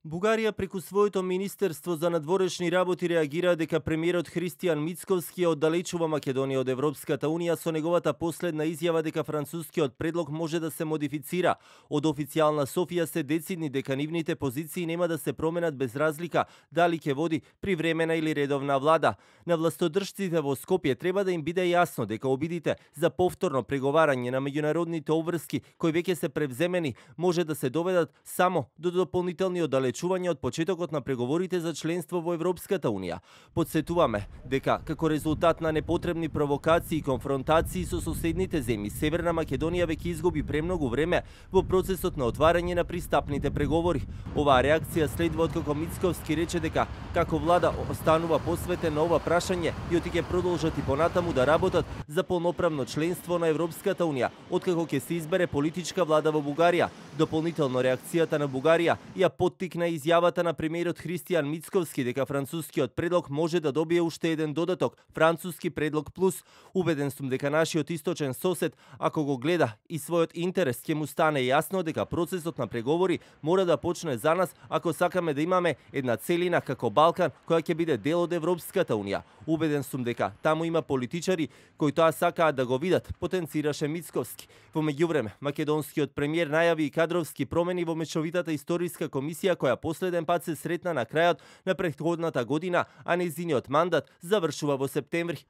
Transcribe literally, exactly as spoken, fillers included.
Бугарија преку своето Министерство за надворешни работи реагира дека премиерот Христијан Мицковски оддалечува Македонија од Европската Унија со неговата последна изјава дека францускиот предлог може да се модифицира. Од официјална Софија се децидни дека нивните позиции нема да се променат без разлика дали ќе води привремена или редовна влада. На властодржците во Скопје треба да им биде јасно дека обидите за повторно преговарање на меѓународните обврски кои веќе се превземени може да се доведат само до дополнителни оддалечувања од почетокот на преговорите за членство во Европската Унија. Подсетуваме дека како резултат на непотребни провокации и конфронтации со соседните земји, Северна Македонија веќе изгуби премногу време во процесот на отварање на пристапните преговори. Оваа реакција следва откако Мицковски рече дека како влада останува посветен на ова прашање и оти ќе продолжат и понатаму да работат за полноправно членство на Европската Унија, откако ќе се избере политичка влада во Бугарија. Дополнително реакцијата на Бугарија ја поттикна изјавата на премиерот Христијан Мицковски дека францускиот предлог може да добие уште еден додаток, француски предлог плюс. Убеден сум дека нашиот источен сосед, ако го гледа и својот интерес, ќе му стане јасно дека процесот на преговори мора да почне за нас ако сакаме да имаме една целина како Балкан која ќе биде дел од Европската Унија. Убеден сум дека таму има политичари кои тоа сакаат да го видат, потенцираше Мицковски. Во меѓувреме, македонскиот премиер најави и кадровски промени во мешовитата историска комисија која последен пат се сретна на крајот на претходната година, а нејзиниот мандат завршува во септември.